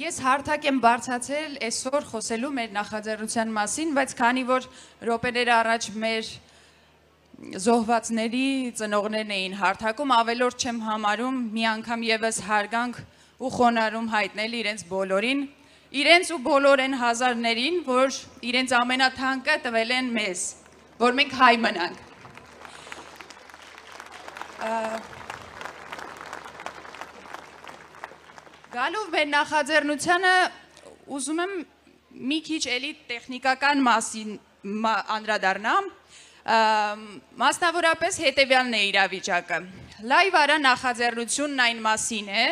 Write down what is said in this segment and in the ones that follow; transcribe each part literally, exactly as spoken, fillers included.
Ես հարթակ եմ բարձացել այսօր խոսելու մեր նախաձեռնության մասին, բայց քանի որ րոպեներ առաջ մեր զոհվածների ծնողներն էին հարթակում, ավելորդ չեմ համարում մի անգամ եւս հարգանք ու խոնարհում հայտնել իրենց բոլորին, իրենց ու բոլոր այն հազարներին, որ իրենց ամենաթանկը տվել են մեզ, որ մենք հայ մնանք։ Գալով մեր նախաձեռնությանը ուզում եմ մի քիչ էլի տեխնիկական մասին անդրադառնամ, մասնավորապես հետևյալն է իրավիճակը։ Լայվ արա նախաձեռնությունն այն մասին է,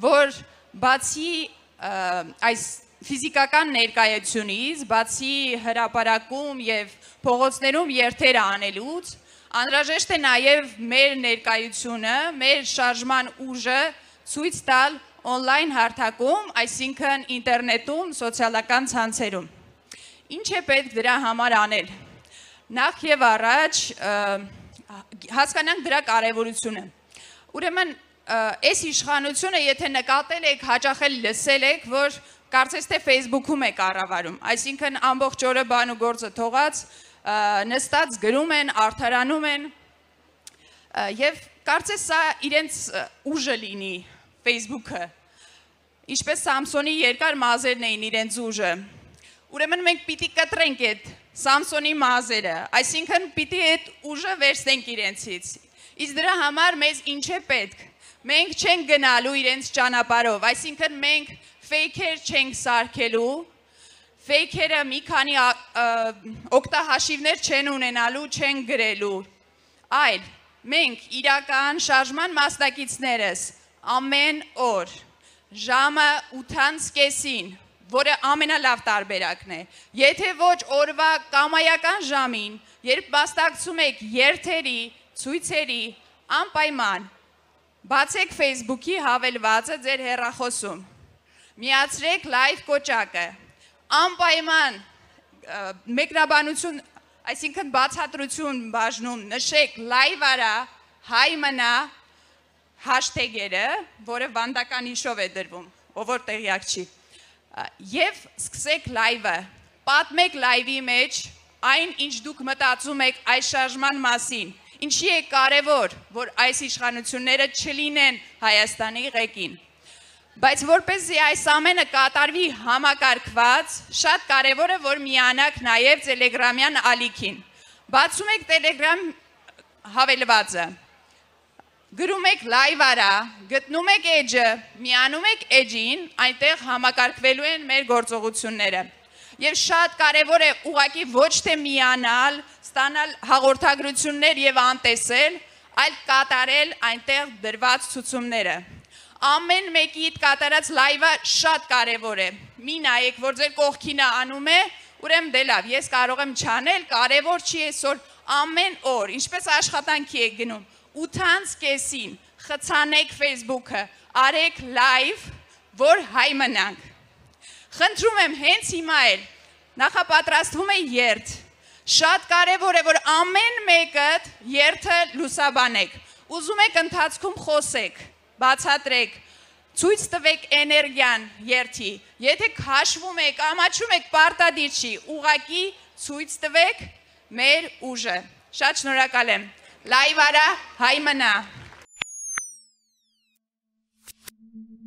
որ բացի այս ֆիզիկական ներկայությունից, բացի հրապարակում եւ փողոցներում երթեր անելուց, անհրաժեշտ է նաեւ մեր ներկայությունը, մեր շարժման ուժը ցույց տալ on-line հարթակում, այսինքն ինտերնետում, սոցիալական ցանցերում։ Ինչ է պետք դրա համար անել։ Նախ եւ առաջ հասկանանք դրա կարեւորությունը։ Ուրեմն, այս իշխանությունը, եթե նկատել եք, հաճախել լսել եք, որ կարծես թե Facebook-ում է կառավարում, այսինքն ամբողջ օրը բան ու գործը թողած, նստած գրում են, արդարանում են, եւ կարծես սա իրենց ուժը լինի Facebook-ը, ինչպես Սամսոնի երկար մազերն էին իրենց ուժը։ Ուրեմն մենք պիտի կտրենք այդ Սամսոնի մազերը, այսինքն պիտի այդ ուժը վերցնենք իրենցից։ Իսկ դրա համար մեզ ինչ է պետք։ Մենք չենք գնալու իրենց ճանապարհով, այսինքն մենք ֆեյքեր չենք սարքելու, ֆեյքերը մի քանի օգտահաշիվներ չեն ունենալու, չեն գրելու, այլ մենք իրական շարժման մասնակիցներս ամեն օր ժամը ութից կեսին, որը ամենալավ տարբերակն է, եթե ոչ օրվա կամայական ժամին, երբ մասնակցում եք երթերի, ցույցերի, անպայման բացեք Facebook-ի հավելվածը ձեր հեռախոսում, միացրեք լայվ կոճակը, անպայման մեկնաբանություն, այսինքն բացատրություն բաժնում, նշեք լայվ արա, հայ մնա, հաշթեգերը, որը վանդական հիշով է դրվում, ով որ տեղյակ չի, և սկսեք լայվը, պատմեք լայվի մեջ այն, ինչ դուք մտածում եք այս շարժման մասին, ինչի է կարևոր, որ այս իշխանությունները չլինեն Հայաստանի ղեկին, բայց որպեսզի այս ամենը կատարվի համակարգված, շատ կարևոր է, որ միանաք նաև տելեգրամյան ալիքին, բացում եք տելեգրամ հավելվածը, գրում եք լայվ արա, գտնում եք էջը, միանում եք էջին, այնտեղ համակարգվելու են մեր գործողությունները։ Եվ շատ կարևոր է ուղղակի ոչ թե միանալ, ստանալ հաղորդագրություններ եւ անտեսել, այլ կատարել այնտեղ դրված ցուցումները։ Ամեն մեկիդ կատարած լայվը շատ կարևոր է։ Մի նայեք, որ ձեր կողքին անում է, ուրեմն դե լավ, ես կարող եմ չանել, կարևոր չի այսօր ամեն օր, ինչպես աշխատանքի եք գնում։ ութից կեսին խցանեք Facebook-ը, արեք լայվ, որ հայ մնանք։ Խնդրում եմ հենց հիմա էլ, նախապատրաստվում է երթ, շատ կարևոր է, որ ամեն մեկդ երթը լուսաբանեք, ուզում եք ընթացքում խոսեք, բացատրեք, ցույց տվեք էներգիան երթի, եթե քաշվում եք, ամաչում եք, պարտադիր չի, ուղղակի ցույց տվեք մեր ուժը։ Շատ շնորհակալ եմ։ Լայվ արա, հայ մնա։